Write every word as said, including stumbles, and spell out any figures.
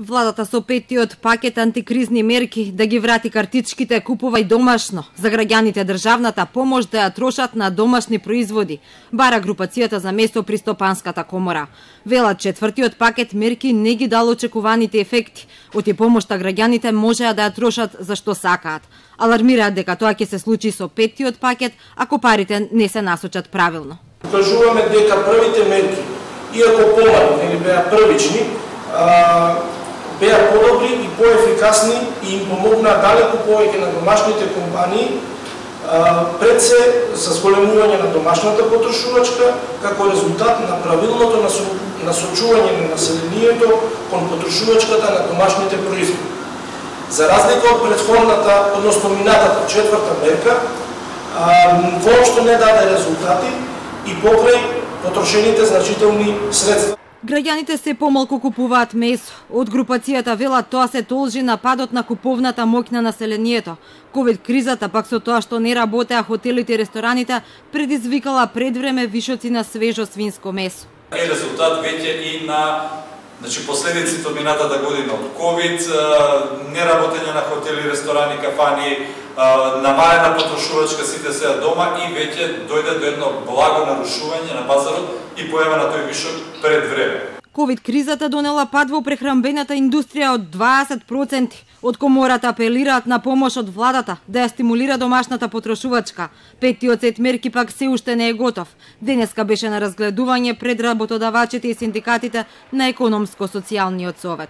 Владата со петтиот пакет антикризни мерки да ги врати картичките купувај домашно. За граѓаните државната помош да ја трошат на домашни производи, бара групацијата за место при Стопанската комора. Велат четвртиот пакет мерки не ги дал очекуваните ефекти, оти помошта граѓаните можеа да ја трошат за што сакаат. Алармираат дека тоа ќе се случи со петтиот пакет ако парите не се насочат правилно. Кажуваме дека првите мерки, иако помални или беа првични, а, беа подобри и поефикасни и им помогнаа далеку повеќе на домашните компании, а, пред се за зголемување на домашната потрошувачка, како резултат на правилното насочување на населението кон потрошувачката на домашните производи. За разлика од претходната, односно минатата четврта мерка, а, воопшто не даде резултати и покрај потрошените значителни средства. Граѓаните се помалку купуваат месо. Од групацијата велат тоа се должи на падот на куповната моќ на населението. Ковид кризата пак со тоа што не работеа хотелите и рестораните предизвикала предвреме вишоци на свежо свинско месо. Е резултат веќе и на значи последиците од минатата година од ковид, неработење на хотели, ресторани, кафани, намалена потрошувачка, сите се дома и веќе дојде до едно благо нарушување на пазарот и појава на тој вишок пред време. Ковид кризата донела пад во прехранбената индустрија од дваесет проценти. Од комората апелираат на помош од владата да ја стимулира домашната потрошувачка. Петтиот сет мерки пак се уште не е готов. Денеска беше на разгледување пред работодавачите и синдикатите на Економско-социјалниот совет.